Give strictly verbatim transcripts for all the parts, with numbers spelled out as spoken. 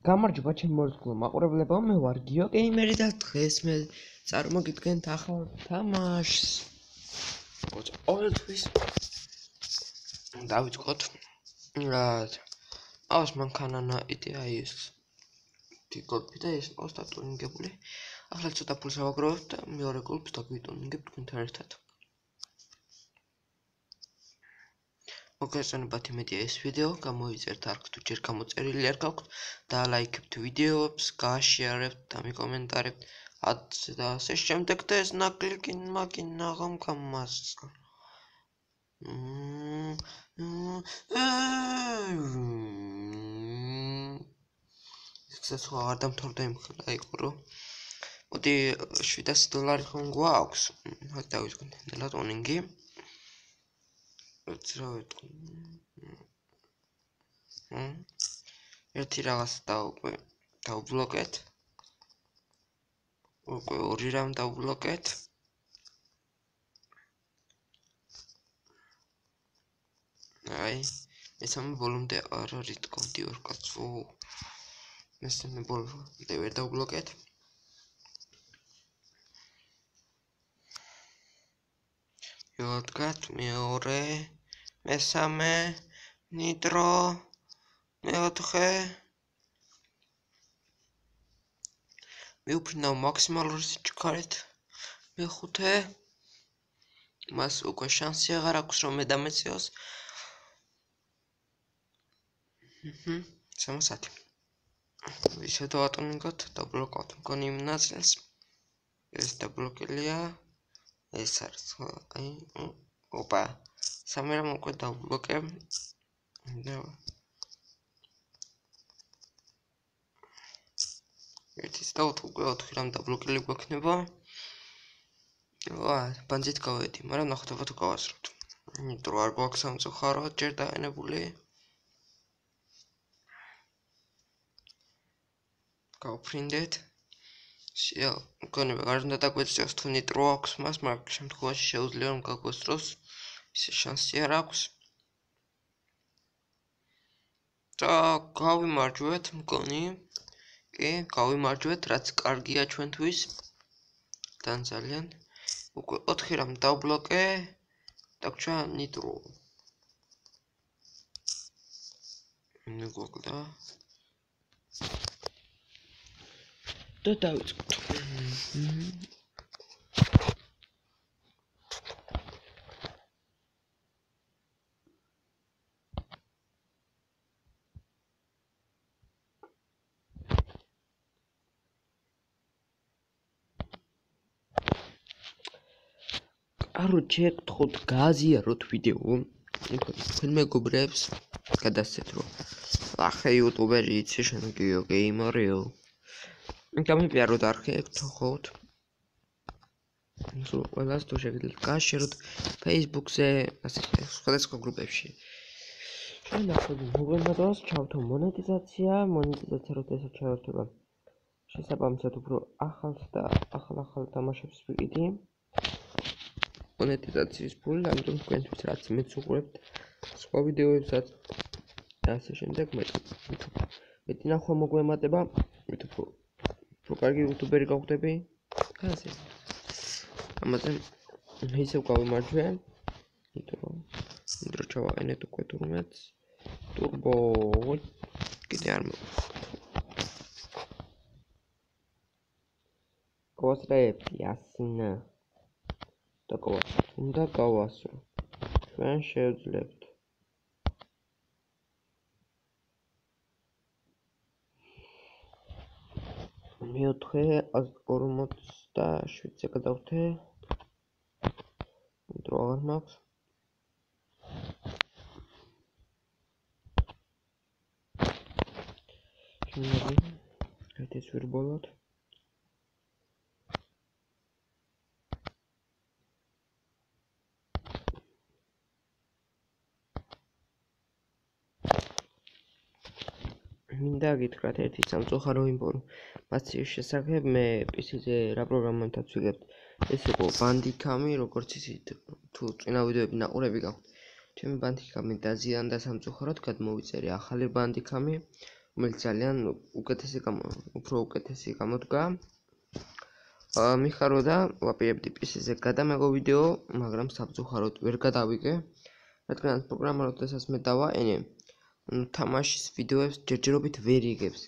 გამარჯობა ჩემო მორწმუნე მაყურებლებო, მე ვარ გიო გეიმერი და დღეს მე წარმოგიდგენთ ახალ თამაშს. ყოველთვის დავიწყოთ. რაავს მანქანა იდეა ის ტიკოტი და ეს პოსტა ტუნინგებული. ახლა ცოტა ფულს ავაგროვებთ და მეორე გოლფს დაგვიტუნინგებთ თქვენთან ერთად. მოგესალმებით იმედია ეს ვიდეო გამოიწერთ არც თუ ჯერ გამოწერილი არ გაქვთ და ლაიქებთ ვიდეოებს, გააშიარებთ და მიკომენტარებთ და ასე შემდეგ და ეს ნაკლიკი მაგინა ღამ გამასწორ. ეს სხვა არ დამთავრდა იმ ხალხი იყო რომ მოდი შვიდასი დოლარი ხომ გვაქვს. ხა დავიწყოთ ნელა ტუნინგი. რა ვეთქვი? ერთი რაღაც დავუკვე დავბლოკეთ. უკვე ორი რამ დავბლოკეთ. აი, მესამე ბოლომდე არ არის კონტი ორ კაცო. მესამე ბოლომდე ვერ დავბლოკეთ. იოდგათ მეორე, მესამე, ნიტრო, მეოთხე. მიუფრინავ მაქსიმალური სიჩქარით. მეხუთე. მას უკვე შანსი აღარ აქვს რომ მე დამეციოს. ჰმ, სამასათი. ისე დავატუნინგოთ, დაბლოკავთ მგონი იმ ნაწილს. ეს დაბლოკილია. ეს არის აი ოპა სამი რამ უკვე დავბლოკე და ერთის და უკვე ოთხი რამ დაბლოკილი გვექნება. ვა ბანძით გავედი, მაგრამ ნახოთ თუ გავასრულოთ. ნიტრო არ გვაქვს სამწუხაროდ ჯერ დაენებული. გავფრინდეთ. შეა, მგონი არ უნდა დაგვეწიოს თუ ნიტრო აქვს მას, მაგრამ შემთხვევაში შეუძლია რომ გაგვესწროს. ისე შანსი არ აქვს. და გავიმარჯვეთ, მგონი. კი, გავიმარჯვეთ, რაც კარგია ჩვენთვის. თან ძალიან. უკვე ოთხი რამ დავბლოკე. დაგვრჩა ნიტრო. მეგოკლდა. და დავიწყოთ. კაროჩე, გთხოვთ გააზიაროთ ვიდეო. თქვენ მეგობრებს გადასცეთ რომ ახლა იუტუბერი იცი შენ გიო გეიმერიო. გამიფიაროთ არხი, გთხოვთ. სულ ყველას თუ შეგიძლიათ გააშეროთ Facebook-ზე, ასე სხვადასხვა გრუპებში. ჩვენ ახლა მოგვემატოს ჩავთო მონეტიზაცია, მონეტიზაცია როდესაც ჩავერთვება. შესაბამისად უფრო ახალს და ახალ-ახალ თამაშებს ვიყიდი. მონეტიზაციის ფული, ამიტომ თქვენთვის რაც მეც უყურებთ სხვა ვიდეოებსაც და ასე შემდეგ მეტი მეტი ნახვა მოგვემატება, მით უფრო უფრო კარგი იუტუბერი გავხდები. ასე. ამაზე ისევ გავიმარჯვე. ნიტრო. ნიტრო ჩავაყენეთ უკვე თურმეც. ტურბო კიდე არ მოგვიყვება. გავასწრებ იასინა. და გავასწრებ. უნდა გავასწრო. ჩვენ შევძლებთ. მეოთხე ორმოცდაშვიდზე გადავთე. ნიტრო აღარ მაქვს. შემიძლია ეს ვირბოლოთ. მინდა გითხრათ ერთი სამწუხარო ინფორმაციის შესახებ. მე პი-სიზე რა პროგრამებთან ვიგებ. ეს იყო ბანდიკამი, როგორც იცით, თუ წინა ვიდეოები ნაყურები გაქვთ. ჩემი ბანდიკამი დაზიანდა სამწუხაროდ, გადმოვიწერე ახალი ბანდიკამი, რომელიც ძალიან უკეთესი უფრო უკეთესი გამოდგა. მიხაროდა ვაპირებდი პი-სიზე გადამეღო ვიდეო, მაგრამ სამწუხაროდ ვერ გადავიგე. რადგანაც პროგრამა როდესაც მე დავაყენე, თამაშის ვიდეოებს ჯერჯერობით ვერ იგებს.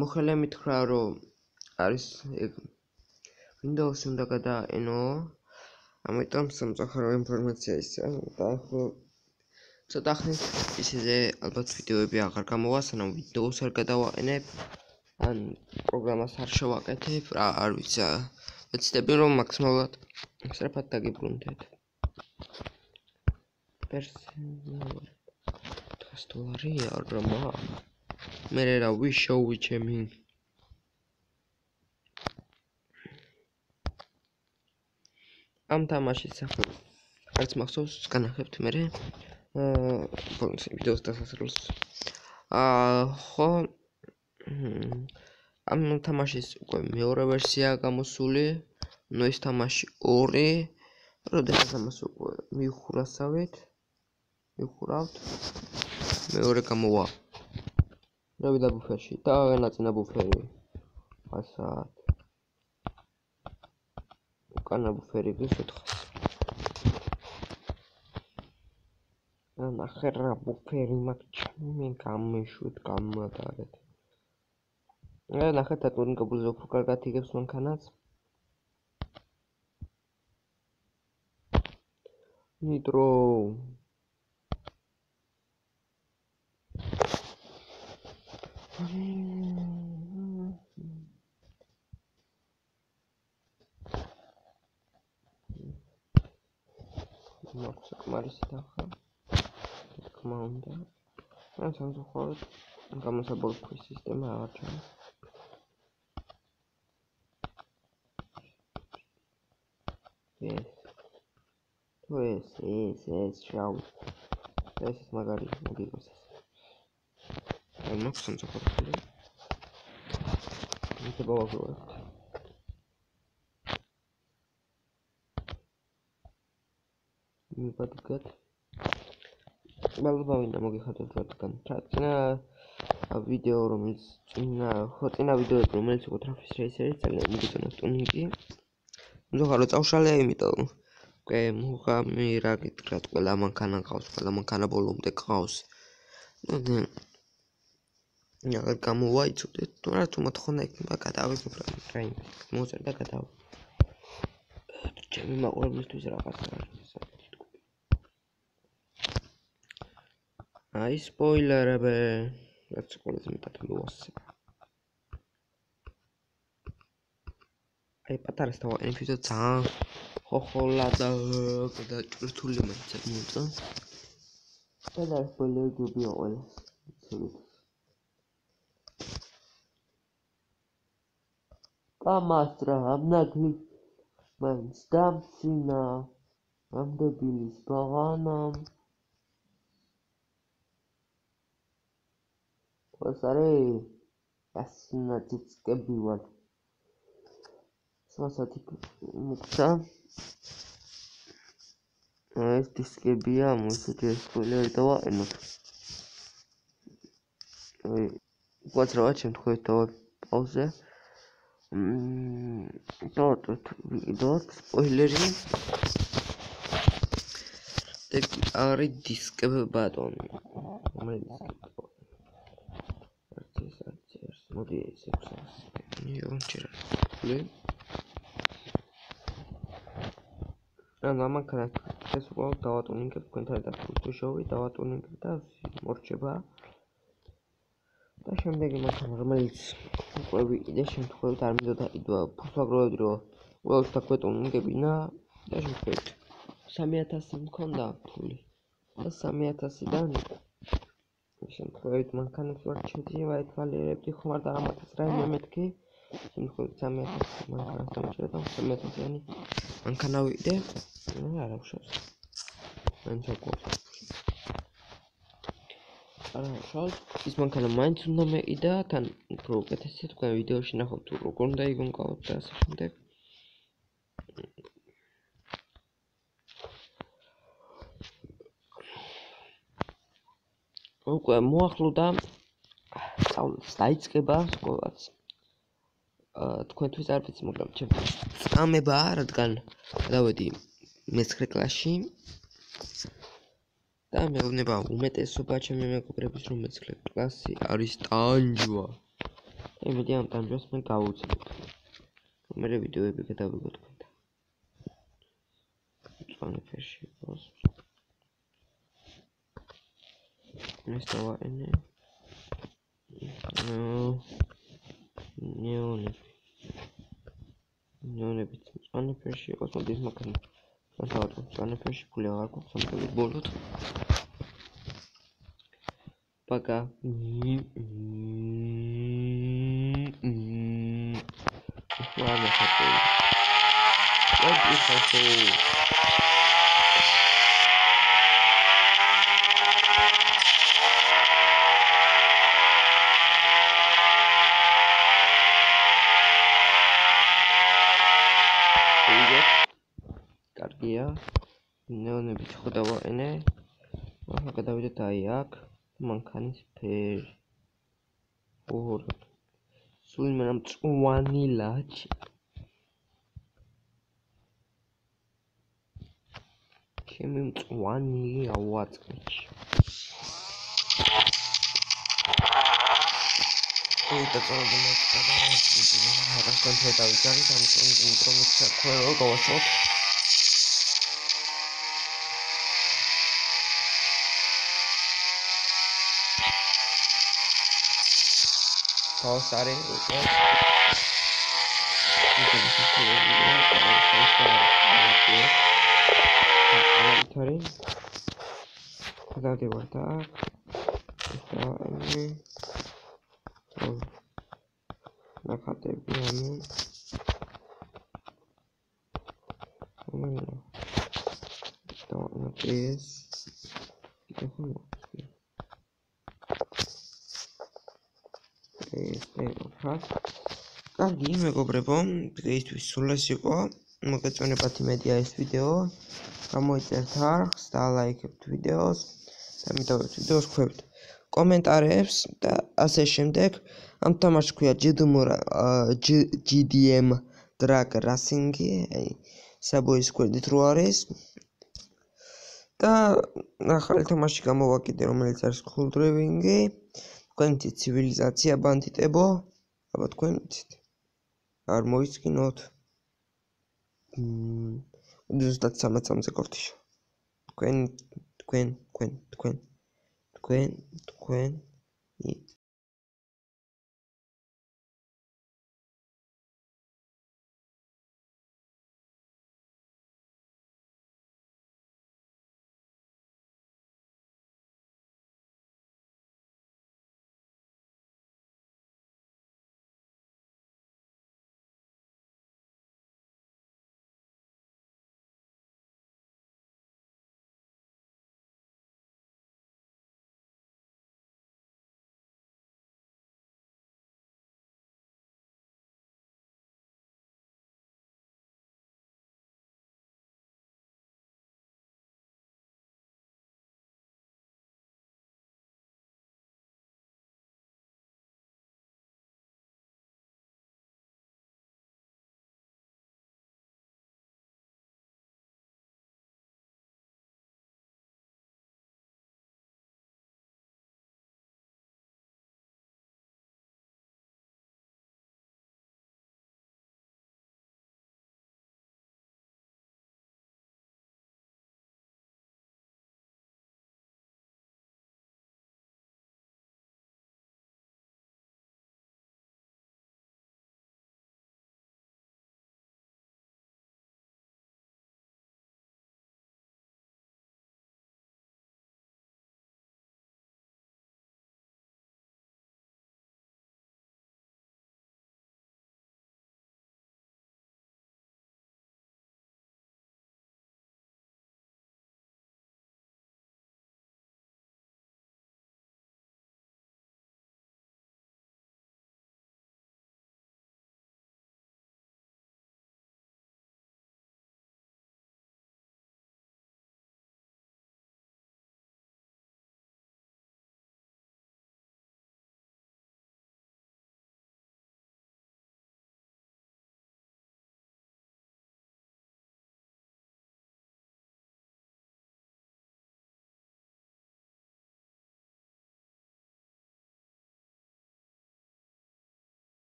მოხელე მითხრა, რომ არის Windows-ი უნდა გადააყენო, ამიტომ სამწუხარო ინფორმაცია ისაა და ახლა ცოტა ხნის პი-სიზე ალბათ ვიდეოები აღარ გამოვა, სანამ Windows-ს არ გადავაყენებ, ან პროგრამას არ შევაკეთებ, რა არ ვიცი. ვეცდები რომ მაქსიმალურად სწრაფად დაგიბრუნდეთ. პერსონალური ოთხას დოლარი არა მა. მე რა ვიშოუი ჩემი. ამ თამაშის სახელს არც მახსოვს, განახებთ მე. აა ვიდეოს დასასრულს. აა ხო ამ თამაშის უკვე მეორე ვერსია გამოსული, ნუ ეს თამაში ორი, როდესაც ამას უკვე მივხურასავით, მივხურავთ, მეორე გამოვა. დავიდა ბუფერში და განაწინა ბუფერი. ასად. უკანა ბუფერი გის ოთხას. ნახე რა ბუფერი მაქვს, მე გამეშვით გამოდარეთ. რა ნახეთ ატურინგებულზე უფრო კარგად იგებს მანქანას. ნიტრო მაქვს საკმარისი დახა. თქმა უნდა. ან სამწუხაროდ გამოსაბოლქვი სისტემა აღარ ჩანს. ეს თუ ეს ეს ეს შავი ეს ის მაგარი მოგიგოს ეს. აი მაქვს სამწუხაროდ. ისე ბავშვობთ. მიბადგათ. ბალბავინა მოგიხადოთ რადგან წინა ვიდეო რომელიც წინა ხო წინა ვიდეოები რომელიც იყო Traffic Racer-ი ძალიან მიგეწონათ ტუნინგი. ზოგადად წავშალე იმიტომ უკვე მუღამი რა გითხრათ ყველა მანქანა ყავს, ყველა მანქანა ბოლომდე ყავს. ნუ აღარ გამოვაიცოდეთ, თუმცა თუ მოთხოვნა იქნება გადავიღებ რა იმ მოწერ და გადავ. ჩემი მაყურებლისთვის რაღაცა არის. აი სპოილერები, რაც ყველაზე მეტად მოვასწრებ. აი პატარა სტავანი ვიდეო ძალიან ხოხოლა და გადაჭრთული მაინც მოიწა. და სპოილერი გუბია ყველა. კამასტრა ამნაგი მაინც დამცინა ამდებილის ბაღანამ. ვასარე ასნა ციცკები ვარ. სვასათი მუქცა. ეს დისკებია, მოსეთ სპოილერი დავაყენოთ. აი, ვაც რა შემთხვევით დავა პაუზე. მმ, დავატვირთ ვიდეოთ სპოილერი. ეგ არის დისკები ბატონი. რომელიც მოდი ეს ექვსას. ნიო ჩერა. ლე. ან ამანქანა ეს უყავ დავატუნინგებ თქვენთან და ფუტუშოვი დავატუნინგებ და მორჩება. და შემდეგი მანქანა რომელიც უკვე ვიყიდე შემთხვევით არ მინდოდა იდვა ფუსაგროვებდი რომ ყველს დაგვეტუნინგებინა და შემთხვევით სამი ათასი მქონდა ფული და სამი ათასიდან შემთხვევით მანქანებს ვარ ჩედივა ეთვალიერებდი ხმარ და ამათაც რაიმე მეთქი შემთხვევით სამი ათასი მანქანას დამჭერდა და სამი ათასიანი მანქანა ვიყიდე არა უშავს მაინც აკვავს არა უშავს ის მანქანა მაინც უნდა მეყიდა თან უფრო უკეთესია თქვენ ვიდეოში ნახავთ თუ როგორ უნდა იგონგავთ და ასე შემდეგ უკვე მოახლოვდა სწავლაც დაიწყება სკოლაც. აა თქვენთვის არ ვიცი, მაგრამ ჩემთვის წამებაა, რადგან გადავედი მეცხრე კლასში. და მეუბნება უმეტესობა ჩემი მეგობრების, რომ მეცხრე კლასი არის ტანჯვა. და იმედი ამ ტანჯვას მე გავუძლებ. მერე ვიდეოები გადავიღო თქვენთან. მწვანე ფერში იყოს. ეს დავაყენე. ნეონები. ნეონებიც მწვანე ფერში იყოს, მოდის მაგან. დავაყენე მწვანე ფერში, ფული აღარ გვაქვს ამბოლოდ ბოლოდ. Пока. Ладно, хотел. Вот и хотел. Привет. Каргия. Неонები ხო დავაყენე. ახლა გადავიდეთ აი აქ. მანქანის ფერი. ოღონდ. სულ იმენა მწვანი ლაჩი. ჩემი მწვანი ავაწყეში. ой, это правда, это правда. Расскажи, что это там информация, кое голосок. Паузари, окей. Tori. Cadê o так? Está aí. Na categoria. Então, na três. კარგი მეგობრებო, დღეისთვის სულ ეს იყო. მოგეწონებათ იმედია ეს ვიდეო. გამოიწერთ არხს და ლაიქებთ ვიდეოს და მიტოვებთ ვიდეოს ქვევით კომენტარებს და ასე შემდეგ. ამ თამაშს ქვია ჯი დი ემ Drag Racing, აი საბოის გვერდით რო არის. და ახალი თამაში გამოვაკიდე, რომელიც არის Cool Driving. თქვენ იცით ცივილიზაცია ბანდიტებო, აბა თქვენ იცით. არ მოისკინოთ. ზუსტად სამოცამდე გორთიშო. თქვენ თქვენ თქვენ თქვენ თქვენ თქვენ